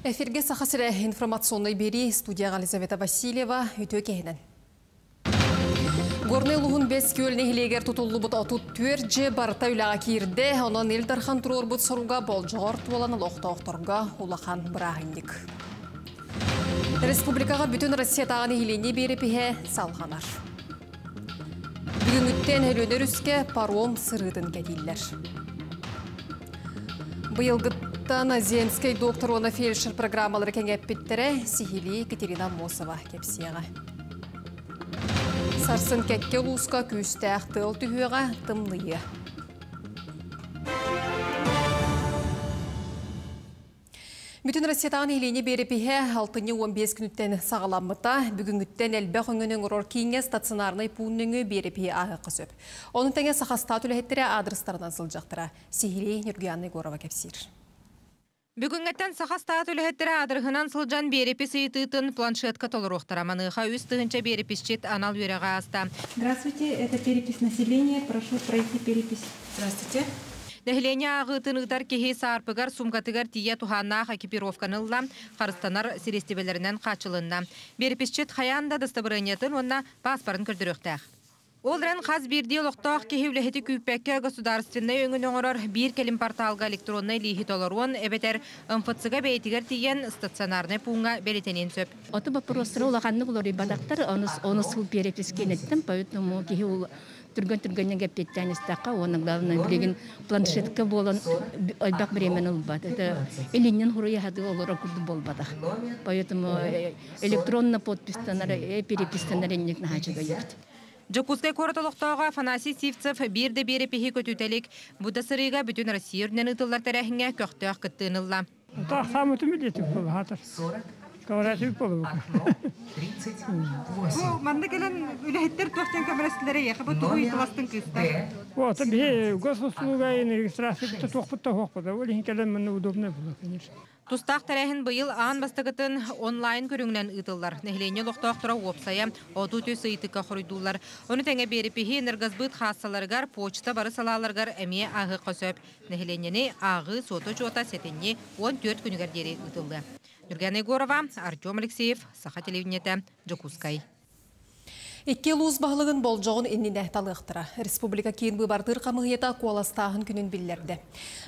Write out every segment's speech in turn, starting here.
Эфирге Саха сирэ информационнай биэрии, студияҕа Елизавета Васильева, үтүө киһинэн. Горнай улууһун Бэс Күөл нэһилиэгэр тутуллубут 34 дьиэ барыта үлэҕэ киирдэ. Онон Ил Дархан туруорбут соруга болдьоҕор туолан олохтоохторго улахан бырааһынньык. Республикаҕа бүтүн Россиятааҕы нэһилиэнньэ биэрэпиһэ салҕанар. Бүгүҥҥүттэн Өлүөнэ өрүскэ паром сырыытын кэтииллэр. Быйылгыттан Земскэй доктор уонна фельдшер программалары кэҥэппиттэрэ, сиһилии Екатерина Аммосова кэпсиэҕэ. Сарсын кэккэ улууска күүстээх тыал түһүөҕэ, тымныйыа. Бүтүн Россиятааҕы нэһилиэнньэ биэрэпиһэ алтынньы 15 күнүттэн саҕаламмыта. Бүгүҥҥүттэн элбэх өҥөнү оҥорор кииҥҥэ стационарнай пуун нөҥүө биэрэпиһи ааһыахха сөп. Ону тэҥэ Сахастаат үлэһиттэрэ аадырыстарынан сылдьахтара. Сиһилии Ньургуяна Егорова кэпсиир. Бүгүҥҥэттэн Сахастаат үлэһиттэрэ аадырыһынан сылдьан биэрэпис ыйытыытын планшетка толоруохтара. Маныаха 3000 биэрэписчит анал үөрэҕи ааста. Здравствуйте, это перепись населения. Прошу пройти перепись. Здравствуйте. Нэһилиэнньэ ааҕыытын ыытар киһи саарпыгар, суумкатыгар тиийэ туһааннаах экипировканы ылла, харыстанар сириэстибэлэринэн хааччылынна. Биэрэписчит хайаан да дастабырыанньатын уонна пааспарын көрдөрүөхтээх. Ол эрэн хас биирдии олохтоох киһи үлэһити күүппэккэ государственнай өҥөнү оҥорор биир кэлим порталга электроннай лииһи толоруон эбэтэр МФЦ-га бэйэтигэр тиийэн стационарнай пууҥҥа бэлиэтэниэн сөп. Ото боппуруостара улаханнык уларыйбатахтар, ону сыл перепискэнэттэн, поэтому киһи түргэн-түргэнник эппиэттээн истэххэ, уонна главное билигин планшетка буолан элбэх времени ылбат. Это илиннен хуруйаһаты олоро курдук буолбатах. Поэтому электронно подпистанар, перепистанар инник наһаачыга. Дьокуускай куорат олохтооҕо Афанасий Сивцев биир да биэрэпиһи көтүтэ илик. Бу да сырыыга бүтүн Россия үрдүнэн ыытыллар тэрээһиҥҥэ көхтөөх кыттыыны ылла. Таахсаамытым билиэтик буолла Говорят, болу. Бу манна кэлэн үлэһиттэр туох көмөлөстүлэр эйиэхэ, бу тугу ыйыталастыҥ кыыстар? Вот, биһи госуслуга регистрация туохпут та хуохпут. Ол иһин кэлэн манна удобно было, конечно. Тустаах тэрээһин быйыл аан бастакытын онлайн көрүҥүнэн ыытыллар. Нэһилиэнньэ олохтоохторо уопсайа 33 ыйытыкка хоруйдууллар. Ону тэҥэ биэрэпиһи энергосбыт хаассаларыгар, почта бары салааларыгар эмиэ ааһыахха сөп. Нэһилиэнньэни ааҕыы суота-учуота сэтинньи 14 күнүгэр диэри ыытыллыа. Нюргана Егорова, Артем Алексеев, Саха телевидениетэ, Дьокуускай. Икки улуус баһылыгын болдьоҕун иннинэ талыахтара. Республика киин быыбардыыр хамыыһыйата куоластааһын күнүн биллэрдэ.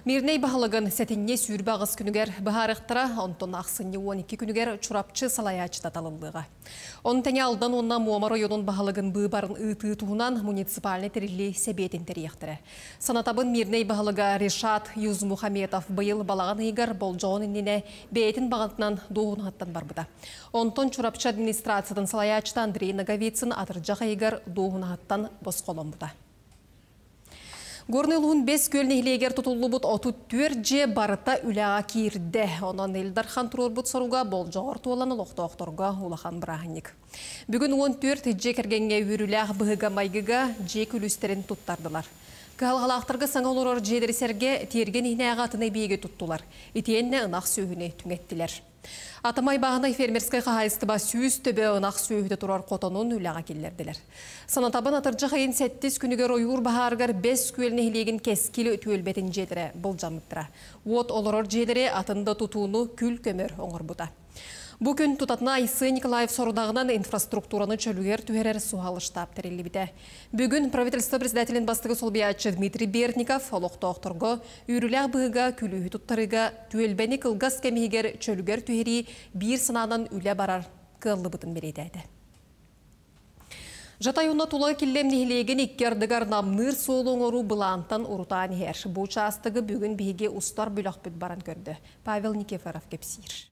Мирнэй баһылыгын сэтинньи 28 күнүгэр быһаарыахтара, онтон ахсынньы 12 күнүгэр Чурапчы салайааччыта талыллыаҕа. Ону тэҥэ Алдан уонна Муома оройуонун баһылыгын быыбарын ыытыы туһунан муниципальнай тэриллии сэбиэтин тэрийиэхтэрэ. Санатабын, Мирнэй баһылыга Решат Юзмухаметов быйыл балаҕан ыйыгар болдьоҕун иннинэ бэйэтин баҕатынан дуоһунаһыттан барбыта. Онтон Чурапчы администрациятын салайааччыта Андрей Ноговицын атырдьах ыйыгар дуоһунаһыттан босхоломмута. Горнай улууһун Бэс Күөл нэһилиэгэр тутуллубут 34 дьиэ барыта үлэҕэ киирдэ. Онон Ил Дархан туруорбут соруга болдьоҕор туолан олохтоохторго улахан бырааһынньык. Бүгүн 14 дьиэ кэргэҥҥэ үөрүүлээх быһыыга-майгыга дьиэ күлүүстэрин туттардылар. Кыһалҕалаахтарга саҥа олорор дьиэлэри сэргэ тиэргэн иһинээҕи атын эбийиэги туттулар. Итиэннэ ынах сүөһүнү түҥэттилэр. Атамай бааһынай фермерскэй хаһаайыстыба 100 төбө ынах сүөһүтэ турар хотонун үлэҕэ киллэрдилэр. Санатабын, атырдьах ыйын сэттис күнүгэр ойуур баһаарыгар Бэс Күөл нэһилиэгин Кэскил түөлбэтин дьиэлэрэ былдьаммыттара. Уот олорор дьиэлэри, атын да тутууну күл-көмөр оҥорбута. Бу күн тутатына Айсен Николаев сорудаҕынан инфраструктураны чөлүгэр түһэрэр суһал штаб тэриллибитэ. Бүгүн правительство председателин бастакы солбуйааччы Дмитрий Бердников олохтоохторго үөрүүлээх быһыыга күлүүһү туттарыыга түөлбэни кылгас кэм иһигэр чөлүгэр түһэрии биир санаанан үлэ барар кыаллыбытын бэлиэтээтэ. Жатай уонна Тулагы Киллэм нэһилиэгин икки ардыгар намныыр суолу оҥоруу былаантан урутаан иһэр. Бу учаастагы бүгүн биһиги устар бөлөхпүт баран көрдө. Павел Никифоров кэпсиир.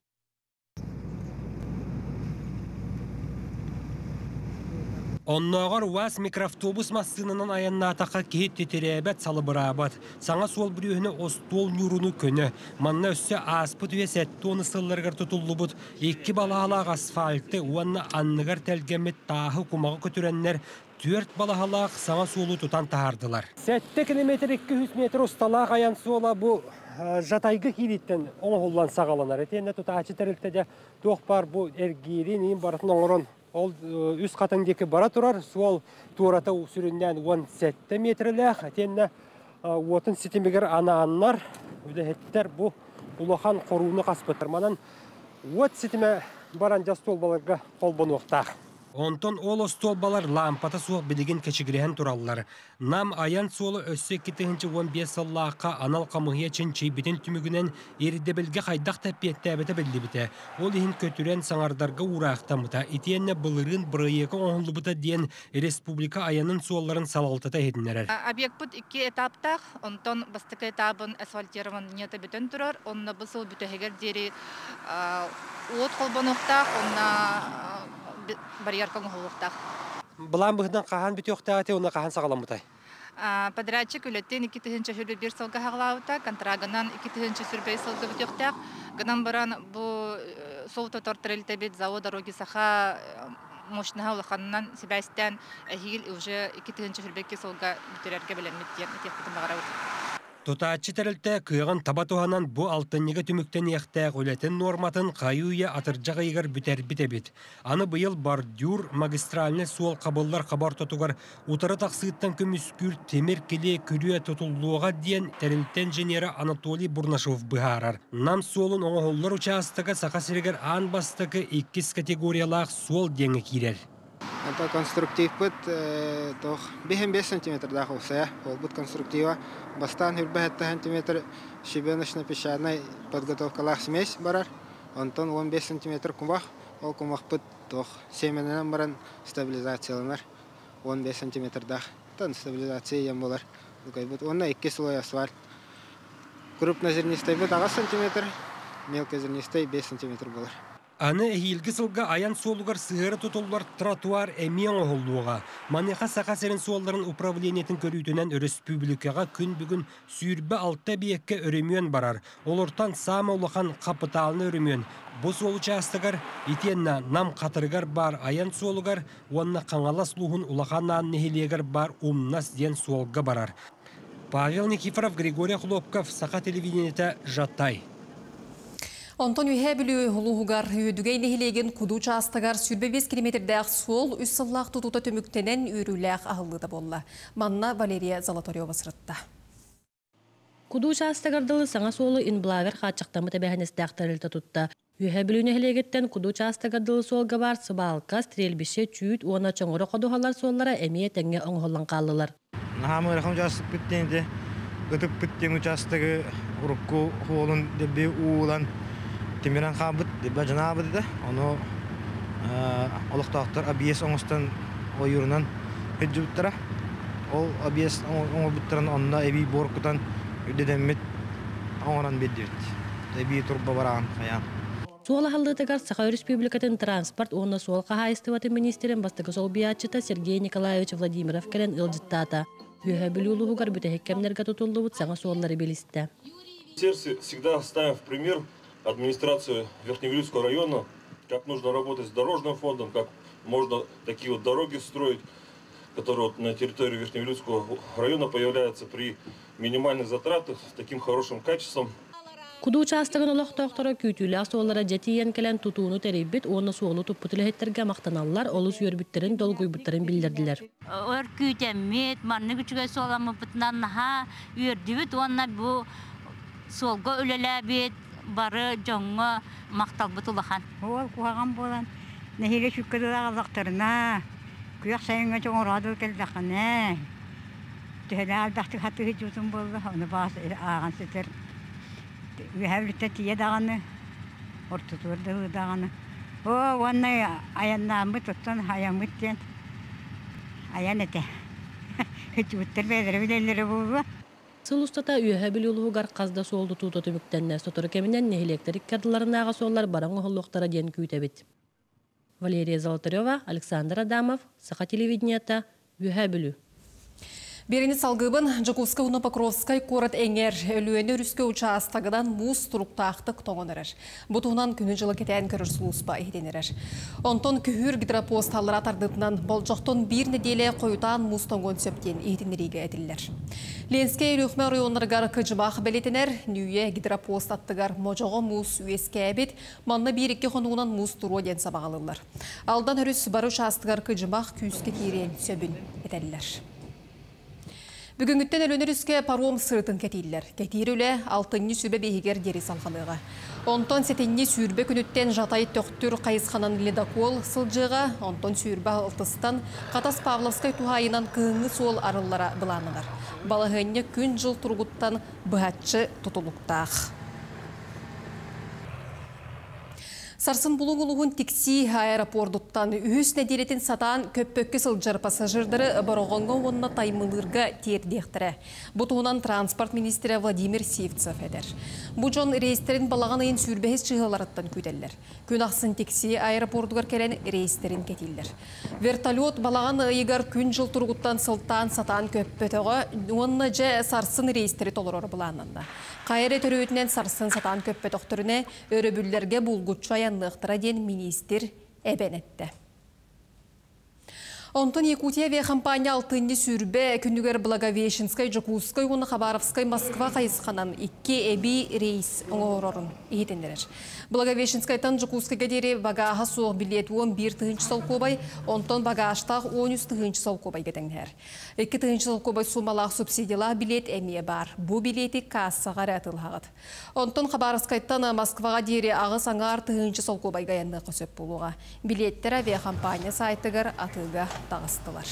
Оннооҕор УАЗ микроавтобус массыынанан айаннаатахха киһи титирээбэт, салыбыраабат. Саҥа суол бүрүөһүнэ остуол ньууруну көнө. Манна өссө ааспыт үйэ 70 сылларыгар тутуллубут икки балаһалаах асфальты уонна анныгар тэлгэммит тааһы кумаҕы көтүрэннэр түөрт балаһалаах саҥа суолу тутан таһаардылар. 7 километр 200 метр усталаах айан суола бу Жатайга киирииттэн оҥоһуллан саҕаланар. Итиэннэ тутааччы тэрилтэ туох баар бу эргиирин иин барытын оҥорон ол Үс Хатыҥ диэки бара турар. Суол туората сүрүннээн 17 метрэлээх. Итиэннэ уотун ситимигэр анааннар үлэһиттэр бу улахан хорууну хаспыттар. Манан Уот ситимэ баран дьэ остуолбаларга холбонуохтаах. Онтон ол остуолбалар лаампата суох билигин кэчигирэһэн тураллар. Нам айан суола өссө 2015 сыллаахха анал хамыыһыйа чинчийбитин түмүгүнэн ирдэбилгэ хайдах да эппиэттээбэтэ биллибитэ. Ол иһин көтүрэн саҥардарга уураахтаммыта. Итиэннэ былырыын бырайыака оҥоһуллубута диэн республика айанын суолларын салалтата иһитиннэрэр. Объекпыт икки этаптаах, онтон бастакы этабын асфальтированиета бүтэн турар, онно бу сыл бүтэһигэр диэри уот холбонуохтаах, онно барьерка оҥоһуллуохтаах. Былаан быһыытынан хаһан бүтүөхтээх этэй уонна хаһан саҕаламмытай? Подрядчик үлэтин 2021 сылга саҕалаабыта, контрагынан 2025 сылга бүтүөхтээх. Гынан баран бу суол тутар тэрилтэбит ЗАО «Дороги Саха» мощноһа улаханынан сибээстээн эһиил уже 2022 сылга бүтэрэргэ бэлэммит диэн этиэхпитин баҕарабыт. Тутааччы тэрилтэ кыаҕын таба туһанан бу алтынньыга түмүктэниэхтээх үлэтин нуорматын хайыы-үйэ атырдьах ыйыгар бүтэрбит эбит. Аны быйыл бордюр магистральнай суол хабыллар хаба ортотугар утары тахсыыттан көмүскүүр тимир килиэ күрүө тутуллуоҕа диэн тэрилтэ инженерэ Анатолий Бурнашов быһаарар. Нам суолун оҥоһуллар учаастага Саха сиригэр аан бастакы иккис категориялаах суол диэҥҥэ киирэр. Это конструктивпыт туох 5 сантиметрдаах уопсайа буолбут конструктива. Бастаан 27 сантиметр щебеночно-песчаной подготовкалаах смесь барар. Онтон 15 сантиметр кумах. Ол кумахпыт туох семеннэн баран стабилизацияланар. 15 сантиметрдаах. Тан стабилизация диэн буолар. Уонна икки слой асфальт. Крупнозернистайбыт 8 сантиметр, мелкозернистай 5 сантиметр буолар. Аны эһиилги сылга айан суолугар сыһыары тутуллар тротуар эмиэ оҥоһуллуоҕа. Маныаха Саха сирин суолларын управлениетын көрүүтүнэн өрөспүүбүлүкэҕэ күн бүгүн 26 эбийиэккэ өрөмүөн барар. Олортон саамай улахан хапытаалынай өрөмүөн бу суол учаастагар итиэннэ Нам Хатырыгар баар айан суолугар уонна Хаҥалас улууһун Улахан Аан нэһилиэгэр баар Умнас диэн суолга барар. Павел Никифоров, Григорий Охлопков, Саха телевидениетэ, Жатай. Онтон Үөһээ Бүлүү улууһугар Үөдүгэй нэһилиэгин Куду учаастагар 25 километрдээх суол үс сыллаах тутуута түмүктэнэн үөрүүлээх аһыллыыта буолла. Манна Валерия Золотарева сырытта. Куду учаастагар дылы саҥа суолу Инблавер хааччахтаммыт эбээһинэстээх тэрилтэ тутта. Үөһээ Бүлүү нэһилиэгиттэн Куду учаастагар дылы суолга баар сыбаалка, стрельбище, чүүт уонна чоҥоро ходуһалар суоллара эмиэ тэҥҥэ оҥоһуллан хааллылар. Наһаа ыарахан учаастакпыт диэн ити ытыппыт диэн учаастагы урукку хуолун дебби уулан тимирэн хаалбыт дебби дьанаабыт этэ. Ону олохтоохтор объезд оҥостон ойуурунан сылдьыбыттара. Ол объезд оҥорбуттарын онно эбии буор кутан үрдэтэммит оҥорон биэрдибит. Эбии турба бараан хайаан. Суол аһыллыытыгар Саха Өрөспүүбүлүкэтин транспорт уонна суол хаһаайыстыбатын миниистирин бастакы солбуйааччыта Сергей Николаевич Владимиров кэлэн ыалдьыттаата. Үөһээ Бүлүү улууһугар бүтэһик кэмнэргэ тутуллубут саҥа суоллары билистэ. Сердце всегда ставим в пример администрацию Верхневилюйского района, как нужно работать с дорожным фондом, как можно такие вот дороги строить, которые вот на территории Верхневилюйского района появляются при минимальных затратах с таким хорошим качеством. Куду учаастагын олохтоохторо күүтүүлээх суоллара дьэ тиийэн кэлэн тутууну тэрийбит уонна суолу туппут үлэһиттэргэ махтаналлар, олус үөрбүттэрин, долгуйбуттарын биллэрдилэр. Өр күүтэммит, маннык үчүгэй суоламмыппытынан наһаа үөрдүбүт уонна бу суолга үлэлээбит бары дьоҥҥо махталбыт улахан. Уол куһаҕан буолан нэһиилэ сүккэ дылы аҕаллахтарына, күөх сайыҥҥа чоҥороодул кэллэххинэ, төһөлөөх элбэхтик хатыы сылдьыбытым буолла, ону баҕас ааҕан сытар Үөһээ Бүлүүттэн тиийэ даҕаны, ортотугар дылы даҕаны. Оо, уонна айаннааммыт, оттон айаммыт диэн айан этэ. Ыччуттар бэйэлэрэ билэллэрэ буолуо. Сыл устата Үөһээ Бүлүү улууһугар хас да суол тутуута түмүктэннэ. Сотору кэминэн нэһилиэктэр икки ардыларынааҕы суоллар бары оҥоһуллуохтара диэн күүтэбит. Валерия Золотарева, Александр Адамов, Саха телевидениета, Үөһээ Бүлүү. Биэриини салгыыбын Дьокуускай уонна Покровскай куорат эҥэр Өлүөнэ өрүскэ учаастагынан муус туруктаахтык тоҥон эрэр. Бу туһунан күнү-дьылы кэтээн көрөр сулууспа иһитиннэрэр. Онтон күһүүр гидропост аллара тардыытынан болдьохтон биир нэдиэлэ хойутаан муус тоҥуон сөп диэн иһитиннэриигэ этиллэр. Ленскэй Өлүөхүмэ оройуоннарыгар кыдьымах бэлиэтэнэр. Нүүйэ гидропост аттыгар модьоҕо муус үөскээбит. Манна биир-икки хонугунан муус туруо диэн сабаҕалыыллар. Алдан өрүс бары учаастагар кыдьымах күүскэ киириэн сөбүн этэллэр. Бүгүҥҥүттэн Өлүөнэ өрүскэ паром сырыытын кэтииллэр. Кэтиир үлэ алтынньы сүбэ биэһигэр диэри салҕаныаҕа. Онтон сэтинньи 20 күнүттэн Жатай Төхтүр хайысханан ледокол сылдьыаҕа, онтон 26-тан Хатас Павловскай туһаайынан кыһыҥҥы суол арыллара былааннанар. Балаһыанньа күн-дьыл туругуттан быһаччы тутулуктаах. Сарсын Булуҥ улууһун Тиксии аэропордуттан үһүс нэдиэлэтин сатаан көппөккө сылдьар пассажирдары Бороҕоҥҥо уонна Таймылыырга тиэрдиэхтэрэ. Бу туһунан транспорт министрэ Владимир Сивцев этэр. Бу дьон рейстэрин балаҕан ыйын сүүрбэһис чыһыаларыттан күүтэллэр. Күн ахсын Тиксии аэропордугар кэлэн рейстэрин кэтииллэр. Вертолет балаҕан ыйыгар күн-дьыл туругуттан сылтаан сатаан көппөтөҕө уонна дьэ сарсын рейстэри толороро былааннанна. Хайа эрэ төрүөтүнэн сарсын сатаан көппөтөхтөрүнэ, өрөбүллэргэ булгуччу айанныахтара диэн миниистир эбэн эттэ. Онтон Якутия авиахампаанньа алтынньы 20 күнүгэр Благовещенскай, Дьокуускай уонна Хабаровскай Москва хайысханан икки эбии рейс оҥорорун иһитиннэрэр. Благовещенскайтан Дьокуускайга диэри багааһа суох билиэт 11 тыһыынча солкуобай, онтон багажтаах 13 тыһыынча солкуобайга тэҥнэһэр. 2 тыһыынча солкуобай суумалаах субсидиялаах билиэт эмиэ баар. Бу билиэти кассаҕа эрэ атыылаһаҕыт. Онтон Хабаровскайтан Москваҕа диэри 8,5 тыһыынча солкуобайга айанныахха сөп буолуоҕа. Билиэттэр авиахампаанньа сайтыгар атыыга таҕыстылар.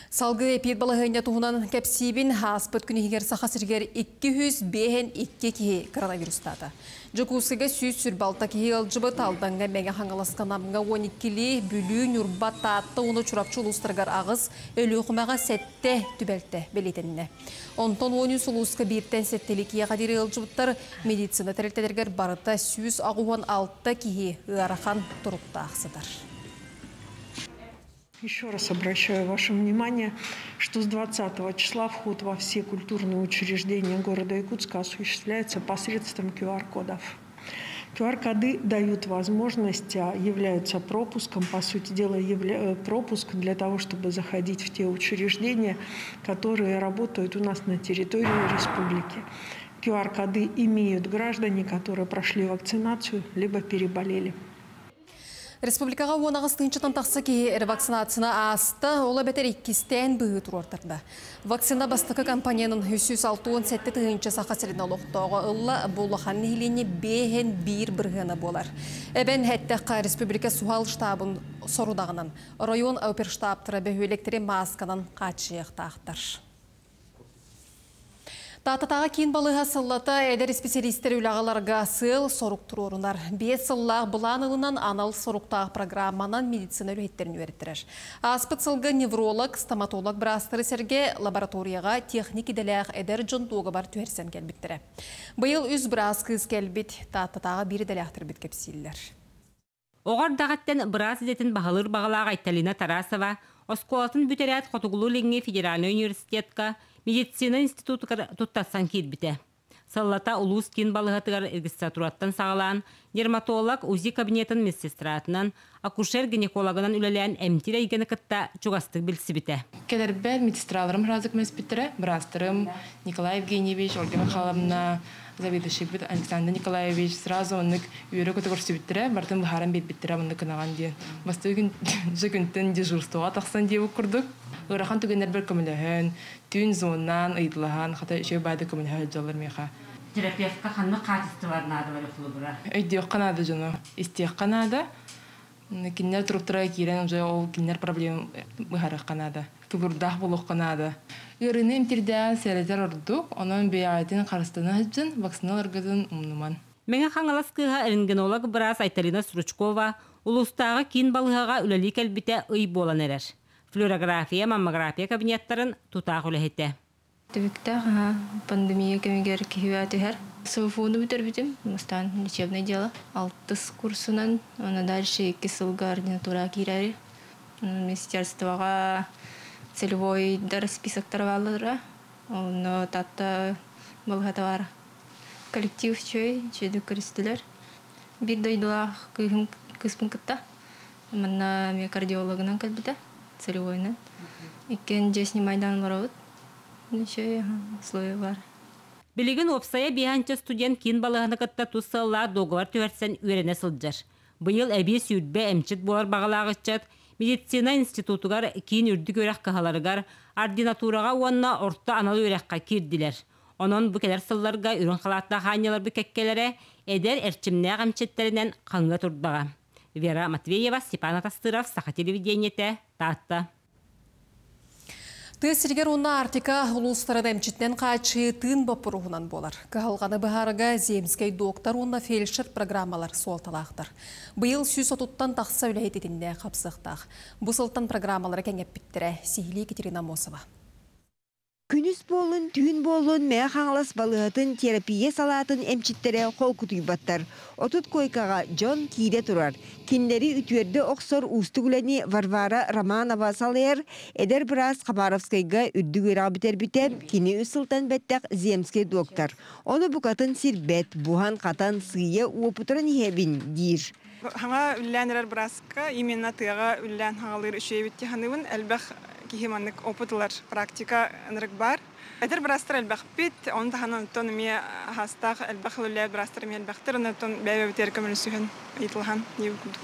Салгыы эпид балаһыанньа туһунан кэпсиибин. Ааспыт күн иһигэр Саха сиригэр 252 киһи коронавирустаата. Дьокуускайга 126 киһи ыалдьыбыт, Алдаҥҥа, Мэҥэ Хаҥаласка, Намҥа 12-лии, Бүлүү, Ньурба, Таатта уонна Чурапчы улуустарыгар аҕыс, Өлүөхүмэҕэ сэттэ түбэлтэ бэлиэтэннэ. Онтон 13 улууска бииртэн сэттэлии киһиэхэ диэри ыалдьыбыттар. Медицина тэрилтэлэригэр барыта 186 киһи ыарахан туруктаах сытар. Еще раз обращаю ваше внимание, что с 20 числа вход во все культурные учреждения города Якутска осуществляется посредством QR-кодов. QR-коды дают возможность, являются пропуском, по сути дела, пропуск для того, чтобы заходить в те учреждения, которые работают у нас на территории республики. QR-коды имеют граждане, которые прошли вакцинацию, либо переболели. Республикаҕа 18 тыһыынчаттан тахса киһи ревакцинацияны ааста, ол эбэтэр иккистээн быһыы туруортарда. Вакцина бастакы компоненын 367 тыһыынча Саха сирин олохтооҕо ылла, бу улахан нэһилиэнньэ 5,1 бырыһыана буолар. Эбэн эттэххэ, республика суһал штабын сорудаҕынан оройуон оперштабтара бөһүөлэктэри маасканан хааччыйыахтаахтар. Тааттатааҕы киин балыыһа сыллата эдэр исписэлиистэри үлэҕэ ыларга сыал сорук туруорунар. 5 сыллаах былаан ылынан анал соруктаах программанан медицина үлэһиттэрин үөрэттэрэр. Ааспыт сылга невролог, стоматолог быраастары сэргэ лабораторияҕа техник идэлээх эдэр дьон дуогабар түһэрсэн кэлбиттэрэ. Быйыл үс быраас кыыс кэлбит, Тааттатааҕы биир идэлээхтэрбит кэпсииллэр. Оҕо эрдэҕиттэн быраас идэтин баһылыыр баҕалаах Айталина Тарасова оскуолатын бүтэрээт Хотугулуу-Илиҥҥи федеральнай университетка медицина институтугар туттарсан киирбитэ. Сыллата улуус киин балыыһатыгар регистратураттан саҕалаан, дерматолог, УЗИ кабинетын медсестратынан, акушер-гинекологынан үлэлээн эмтиир эйгэни кытта чугастык билсибитэ. Кэлэрбэр медсестраларым сразу көмөлөспүттэрэ, быраастарым Николай Евгеньевич, Ольга Михайловна, заведующий Александр Николаевич сразу оннук үөрэ-көтө көрсүбүттэрэ, барытын быһааран биэрбиттэрэ маннык гынаҕын диэн. Бастакы күн дьэ күнтэн дежурствоҕа тахсан диэбит курдук. Ыарахан түгэннэрбэр көмөлөһөн, түүн звоннаан, ыйыталаһан, хата үчүгэй баҕайытык көмөлөһө сылдьаллар миэхэ. Терапевтка ханнык хаачыстыбалар наадалар холобура? Өйдүөххэ наада дьону, истиэххэ наада. Кинилэр туруктара киирэн уже ол кинилэр проблема быһаарыахха наада. Тулуурдаах буолуохха наада. Ыарыыны эмтиирдээҕэр сэрэтэр ордук, онон бэйэҕитин харыстана сылдьын, вакцина ыларгытын умнумаҥ. Мэҥэ Хаҥалас кыыһа рентгенолог быраас Айталина Стручкова улуустааҕы киин балыыһаҕа үлэлии кэлбитэ ый буолан эрэр. Флюорография, маммография кабинеттарын тутаах үлэһитэ. Түбүктээх пандемия кэмигэр киһи түһэр. СВФУну бүтэрбитим, бастаан лечебное дело. Алтыс курсунан, уонна дальше 2 сылга ординатура киирэри. Министерствоҕа целевойдар списоктара бааллара. Онно Таатта балыыһата баар. Коллектив үчүгэй, үчүгэйдик көрүстүлэр. Биир дойдулаах кыыһым кыыспын кытта. Манна эмиэ кардиологынан кэлбитэ, целевойунан. Иккиэн дьиэ снимайдаан олоробут. Үчүгэй условия баар. Билигин уопсайа 50 студент киин балыыһаны кытта тус сыаллаах дуогабар түһэрсэн үөрэнэ сылдьар. Быйыл эбии 20 эмчит буолар баҕалаах ыччат Медицина институтугар, киин үрдүк үөрэх кыһаларыгар, ординатураҕа уонна орто анал үөрэххэ киирдилэр. Онон бу кэлэр сылларга үрүҥ халааттаах аанньаларбыт кэккэлэрэ эдэр эрчимнээх эмчиттэринэн хаҥыа турдаҕа. Вера Матвеева, Степан Атастыров, Саха телевидениетэ, Таатта. Тыа сиригэр уонна Арктика улуустарын эмчитинэн хааччыйыы тыын боппуруоһунан буолар. Кыһалҕаны быһаарыга земскэй доктор уонна фельдшер программалар суолталаахтар. Быйыл 130-тан тахса үлэһит итиннэ хапсыахтаах. Бу сылтан программалары кэҥэппиттэрэ. Сиһилии Екатерина Аммосова. Күнүс буоллун, түүн буоллун Мэҥэ Хаҥалас балыыһатын терапия салаатын эмчиттэрэ холкутуйбаттар. 30 куойкаҕа дьон киирэ турар. Кинилэри үтүөрдэ охсор уустук үлэни Варвара Романова салайар. Эдэр быраас Хабаровскайга үрдүк үөрэҕи бүтэрбитэ, кини үс сылтан бэттэх земскэй доктор. Ону букатын сирбэт, буһан-хатан, сыыйа уопутуран иһэбин диир. Хаҥа үлэлээн эрэр бырааска именно тыаҕа үлэлээн хаҥалыыр үчүгэй эбит дии саныыбын. Элбэх киһи маннык опыт ылар практика ынырык баар. Эдэр быраастар элбэхпит, ону таһынан оттон эмиэ аһаастаах элбэх үлэлээбит быраастар эмиэ элбэхтэр, онон бэйэ-бэйэбитигэр көмөлөсүһэн, ыйытылаһан диэбит курдук.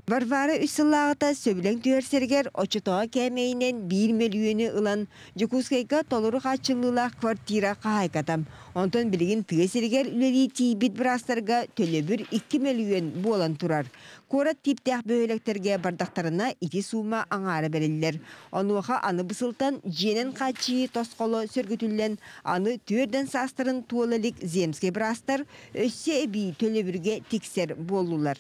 Варвара үс сыллааҕыта сөбүлэҥ түһэрсэригэр оччотооҕу кээмэйинэн биир мөлүйүөнү ылан Дьокуускайга толору хааччыллыылаах квартира хаһаайката. Онтон билигин тыа сиригэр үлэлии тиийбит быраастарга төлөбүр 2 мөлүйүөн буолан турар. Куорат тииптээх бөһүөлэктэргэ бардахтарына ити суума аҥаара бэриллэр. Онуоха аны бу сылтан дьиэнэн хааччыйыы тосхоло сөргүтүллэн, аны түөрдэн саастарын туола илик земскэй быраастар өссө эбии төлөбүргэ тиксэр буоллулар.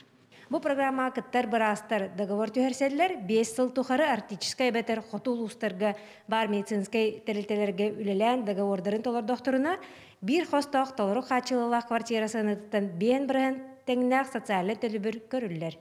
Бу программаҕа кыттар быраастар договор түһэрсэллэр, 5 сыл тухары арктическай эбэтэр хоту улуустарга баар медицинскэй тэрилтэлэргэ үлэлээн договордарын толордохторуна, биир хостоох толору хааччылыылаах квартира сыанатыттан 5% тэҥнээх социальнай төлөбүр көрүллэр.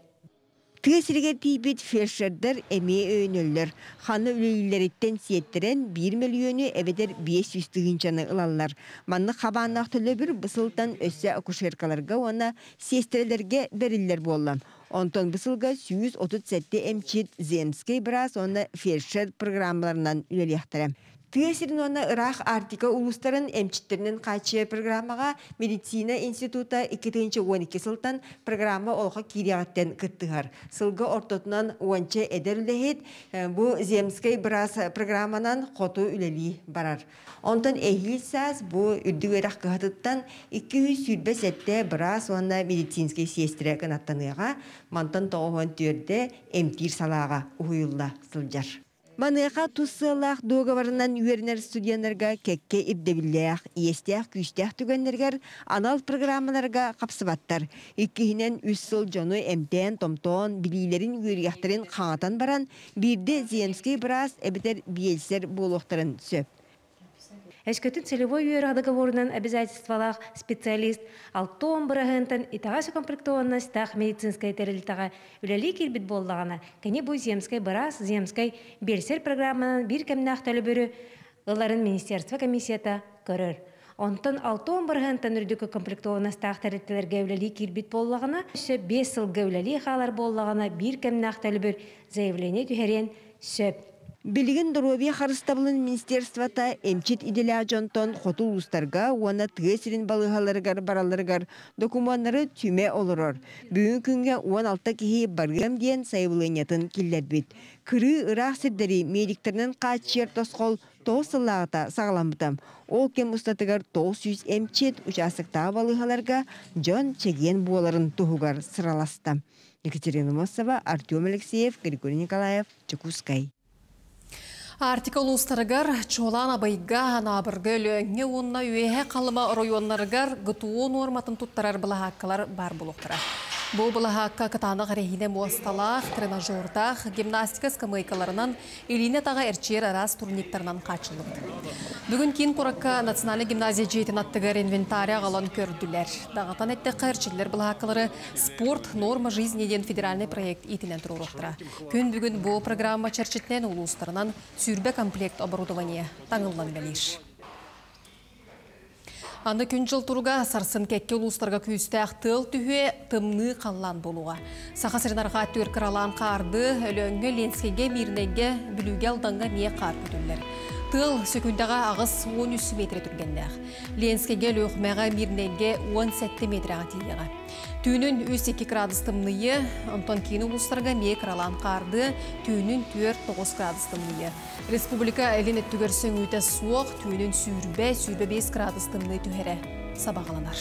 Тыа сиригэр тиийбит фельдшердэр эмиэ өйөнөллөр. Ханна үлэлииллэриттэн сиэттэрэн биир мөлүйүөнү эбэтэр 500 тыһыынчаны ылаллар. Маннык хабааннаах төлөбүр бу сылтан өссө акушеркаларга уонна сиэстэрэлэргэ бэриллэр буолла. Онтон бу сылга 137 эмчит земскэй быраас уонна фельдшер программаларынан үлэлиэхтэрэ. Тыа сирин уонна ыраах Арктика улуустарын эмчиттэринэн хааччыйар программаҕа медицина института 2012 сылтан программа олоххо киириэҕиттэн кыттыһар. Сылга ортотунан уонча эдэр үлэһит бу земскэй быраас программанан хоту үлэлии барар. Онтон эһиил саас бу үрдүк үөрэх кыһатыттан 227 быраас уонна медицинскэй сиэстэрэ кынаттаныаҕа, мантан 94 эмтиир салааҕа уһуйулла сылдьар. Маныаха тус сыаллаах дуогабарынан үөрэнэр студеннарга кэккэ ирдэбиллээх, иэстээх-күүстээх түгэннэригэр анал программаларга хапсыбаттар. Иккиһинэн, үс сыл дьону эмтээн-томтоон, билиилэрин, үөрүйэхтэрин хаҥатан баран, биирдэ земскэй быраас эбэтэр биэлсэр буолуохтарын сөп. Өскөтүн целевой үөрэх договорунан обязательстволаах специалист 60 бырыһыантан итэҕэс укомплектованностаах медицинскэй тэрилтэҕэ үлэлии киирбит буоллаҕына, кини бу земскэй быраас, земскэй биэлсэр программанан биир кэмнээх төлөбүрү ыларын министерство комиссията көрөр. Онтон 60 бырыһыантан үрдүк укомплектованностаах тэрилтэлэргэ үлэлии киирбит буоллаҕына, өссө 5 сылга үлэлии хаалар буоллаҕына, биир кэмнээх төлөбүр заявление түһэриэн сөп. Билигин доруобуйа харыстабылын министерствота эмчит идэлээх дьонтон хоту улуустарга уонна тыа сирин балыыһаларыгар баралларыгар докумуоннары түмэ олорор. Бүгүҥҥү күҥҥэ 16 киһи барыам диэн сайабылыанньатын киллэрбит. Кырыы ыраах сирдэри медиктэринэн хааччыйар тосхол 9 сыллааҕыта саҕаламмыта. Ол кэм устатыгар 900 эмчит учаастактааҕы балыыһаларга дьон чэгиэн буоларын туһугар сыраласта. Екатерина Мосова, Артем Алексеев, Григорий Николаев, Дьокуускай. Арктика улуустарыгар, чуолаан Абыйга, Анаабырга, Өлөөҥҥө уонна Үөһээ Халыма оройуоннарыгар ГТО нуорматын туттарар былаһааккалар баар буолуохтара. Бу былаһаакка кытаанах эрэһиинэ муосталаах, тренажердаах, гимнастика ыскамыайкаларынан, илиини-атаҕы эрчийэр араас турниктарынан хааччыллыбыт. Бүгүн киин куоракка Национальнай гимназия дьиэтин аттыгар инвентарь аҕалан көрдүлэр. Даҕатан эттэххэ, эрчиллэр былаһааккалары «Спорт – норма жизни» диэн федеральнай проект иитинэн туруоруохтара. Күн бүгүн бу программа чэрчитинэн улуустарынан 20 комплект оборудование таҥыллан үлэлиир. Аны күн-дьыл туруга сарсын кэккэ улуустарга күүстээх тыал түһүө, тымныы халлаан буолуоҕа. Саха сирин арҕаа өттүгэр кыралаан хаарды, Өлөөҥҥө, Ленскэйгэ, Мирнэйгэ, Бүлүүгэ, Алдаҥҥа эмиэ хаар көтүллэр. Тыал сөкүндэҕэ 83 метр түргэннээх. Ленскэйгэ, Өлүөхүмэҕэ, Мирнэйгэ 17 метрэҕэ тиийиэҕэ. Түүнүн 3-2 градус тымныйы, онтон киин улуустарга эмиэ кыралаан хаардыа, түүнүн 4-9 градус тымныйы. Республика илин өттүгэр сөҥүүтэ суох, түүнүн сүүрбэ, 25 градус тымныы түһэрэ сабаҕаланар.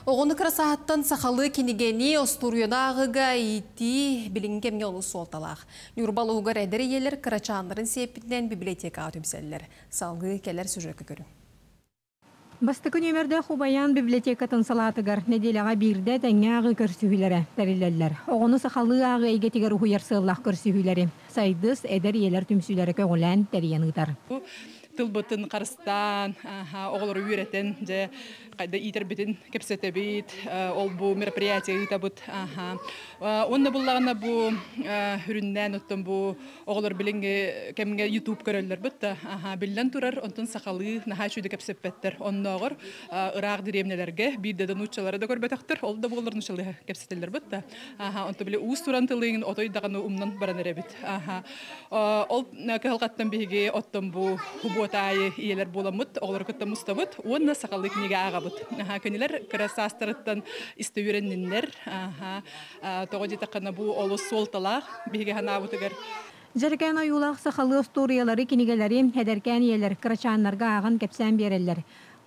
Оҕону кыра сааһыттан сахалыы кинигэни, остуоруйаны ааҕыыга иитии билиҥҥи кэмҥэ олус суолталаах. Ньурба улууһугар эдэр ийэлэр кырачааннарын сиэппитинэн библиотекаҕа түмсэллэр. Салгыы кэлэр сюжекка көрүҥ. Бастакы нүөмэрдээх Убайаан библиотекатын салаатыгар нэдиэлэҕэ биирдэ тэҥҥэ ааҕыы көрсүһүүлэрэ тэриллэллэр. Оҕону сахалыы ааҕыы эйгэтигэр уһуйар сыаллаах көрсүһүүлэри Сайдыс эдэр ийэлэр түмсүүлэрэ көҕүлээн тэрийэн ыытар. Тылбытын харыстаан, оҕолору үөрэтэн, дьэ, хайда иитэрбитин кэпсэтэбит, ол бу мероприятие ыытабыт. Уонна буллаҕына бу үрүннээн оттон бу оҕолор билиҥҥи кэмҥэ YouTube көрөллөр бытта. Биллэн турар, онтон сахалыы наһаа үчүгэй кэпсэппэттэр. Оннооҕор ыраах дэриэбинэлэргэ биирдэ да нууччалары да көрбөтөхтөр, ол да буоллар нууччалыы кэпсэтэллэр бытта. Онто били уус туран тылыҥын отой даҕаны умнан баран эрэбит. Ол кыһалҕаттан биһиги оттон бу субуота аайы ийэлэр буоламмыт, оҕолору кытта мустабыт уонна сахалыы кинигэ ааҕабыт. Кинилэр кыра саастарыттан истэ үөрэнниннэр. Тоҕо диэтэххинэ бу олус суолталаах биһиги санаабытыгар. Дьэрикээн ойуулаах сахалыы остуоруйалары, кинигэлэри эдэркээн ийэлэр кырачааннарга ааҕан кэпсээн биэрэллэр.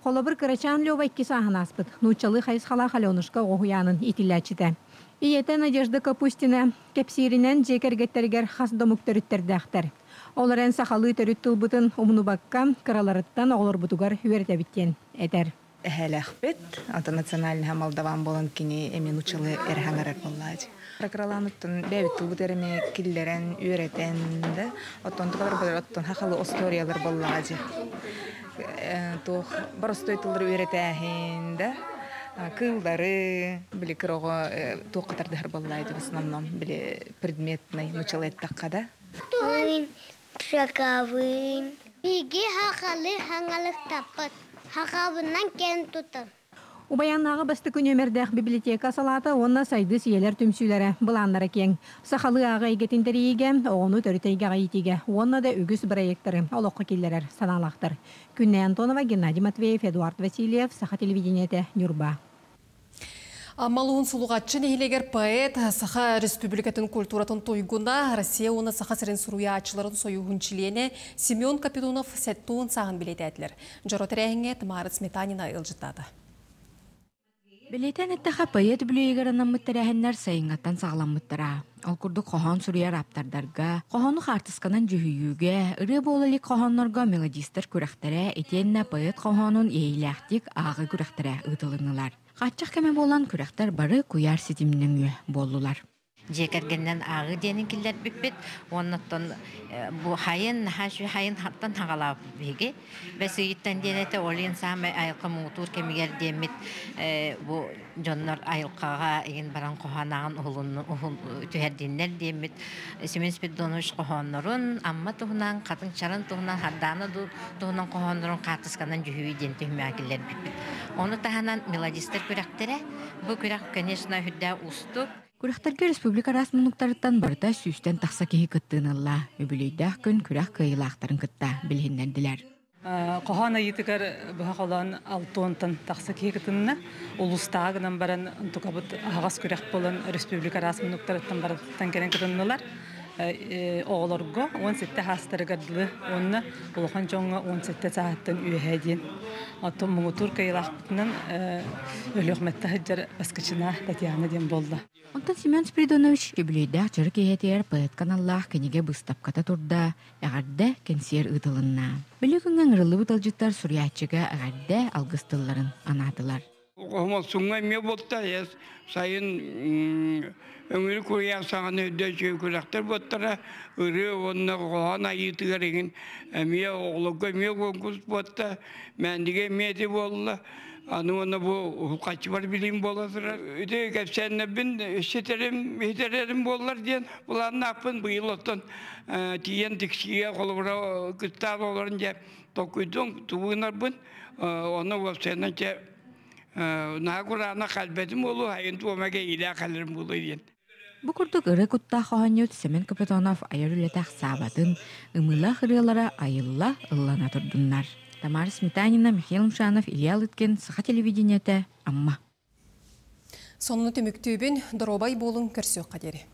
Холобур, кырачаан Лёва икки сааһын ааспыт, нууччалыы хайысхалаах Аленушка оҕо уһуйаанын иитиллээччитэ. Ийэтэ Надежда Капустина кэпсииринэн дьиэ кэргэттэригэр хас да омук төрүттэрдээхтэр. Ол эрэн сахалыы төрүт тылбытын умнубакка, кыраларыттан оҕолорбутугар үөрэтэбит диэн этэр. Эһээлээхпит, онтон национальныһа молдаван буолан кини эмиэ нууччалыы эрэ хаҥарар буоллаачы. Кыралааныттан бэйэбит тылбыт эрэ киллэрэн, үөрэтэн да, оттон тукалар оттон хахалы историялар буоллаачы. Туох боростой тыллары үөрэтээһин да, кыыллары, били кыроҕо туох катардыһар буоллаачы в основном, били предметный нууччалыы эттэххэ да. Туһун шакавын. Биги хахалы хаңалыктаппыт. Хахабынан кен тутан. Убайааннааҕы бастакы нүөмэрдээх библиотека салаата уонна Сайдыс ийэлэр түмсүүлэрэ былааннара киэҥ. Сахалыы ааҕыы эйгэтин тэрийиигэ, оҕону төрүт эйгэҕэ иитиигэ уонна да үгүс бырайыактары олоххо киллэрэр санаалаахтар. Күннэй Антонова, Геннадий Матвеев, Эдуард Васильев, Саха телевидениетэ, Ньурба. Амма улууһун Сулуҕаччы нэһилиэгэр поэт, Саха Республикатын культуратын туйгуна, Россия уонна Саха сирин суруйааччыларын сойууһун чилиэнэ Семен Капитонов 70 сааһын билиэтээтилэр. Дьоро тэрээһиҥҥэ Тамара Сметанина ыалдьыттаата. Бэлиэтээн эттэххэ, поэт үбүлүөйүгэр анаммыт тэрээһиннэр сайыҥҥаттан саҕаламмыттара. Ол курдук хоһоон суруйар ааптардарга, хоһоону хаартысканан дьүһүйүүгэ, ырыа буола илик хоһооннорго мелодистар күрэхтэрэ итиэннэ поэт хоһоонун иэйиилээхтик ааҕыы күрэхтэрэ ыытылыннылар. Хааччах кэмэ буолан күрэхтэр бары куйаар ситимнэҥүө буоллулар. Дьиэ кэргэнинэн ааҕыы диэнин киллэрбиппит. Уонна оттон бу хайын, наһаа үчүгэй хайын хаттан хаҕалаабыт биһиги. Бэс ыйыттан диэн этэ, ол иһин саамай айылҕа муҥутуур кэмигэр диэммит бу дьоннор айылҕаҕа игин баран хоһоон уһулун түһэрдиннэр диэммит Семен Спиридонович хоһооннорун, Амма туһунан, Хатыҥ Чаран туһунан, Хардаана туһунан хоһооннорун хаартысканан дьүһүйүү диэн түһүмэҕэ киллэрбиппит. Ону таһынан мелодистар күрэхтэрэ. Бу күрэх, конечно, үрдээх уустук. Күрэхтэргэ республика араас муннуктарыттан барыта сүүстэн тахса киһи кыттыыны ылла. Үбүлүөйдээх күн күрэх кыайыылаахтарын кытта билиһиннэрдилэр. Хоһоон айыытыгар быһа холоон алтыонтан тахса киһи кытынна. Улуустааҕы гынан баран тукабыт аһаҕас күрэх буолан республика араас муннуктарыттан барыттан кэлэн кытыннылар. Оҕолорго 17 саастарыгар дылы уонна улахан дьоҥҥо 17 сааһыттан үөһээ диэн. Оттон муҥутуур кыайыылаахпытынан Өлүөхүмэттэ сылдьар Баскычына Татьяна диэн буолла. Онтон Семен Спиридонович үбүлүөйдээх дьоро киэһэтигэр поэт каналлаах кинигэ быыстапката турда, эҕэрдэ кэнсиэр ыытылынна. Били күҥҥэ ыҥырыллыбыт ыалдьыттар суруйааччыга эҕэрдэ алгыс тылларын анаатылар. Хомолсуҥҥа эмиэ буолта, сайын өҥүрү куйаар саҕана өйдөө үчүгэй күрэхтэр буоттара, ырыа уонна хоһоон айыытыгар игин эмиэ оҕолорго эмиэ конкурс буотта, Мээндигэ эмиэ ити буолла. Аны уонна бу хаччыбар билим буола турар. Ити кэпсээннэрбин ситэрим, иһитэрэрим буоллар диэн былааннаахпын. Быйыл оттон тиийэн тиксиигэ холобура кыттаан олорон дьэ толкуйдуом тугу гынарбын. Онно уопсайынан чэ наһаа кураанах кэлбэтим буолуо, айын туомага иилээх кэлэрим буолуо диэн. Бу курдук ырыа куттаах хоһоонньут Семен Капитонов айар үлэтэ ахсаабатын, ымыылаах ырыалара айылла, ыллана турдуннар. Тамара Сметанина, Михаил Мшанов, Илья Лыткин, Саха телевидениетэ, Амма. Сонуну түмүктүүбүн, доруобай буолуҥ, көрсүөххэ диэри.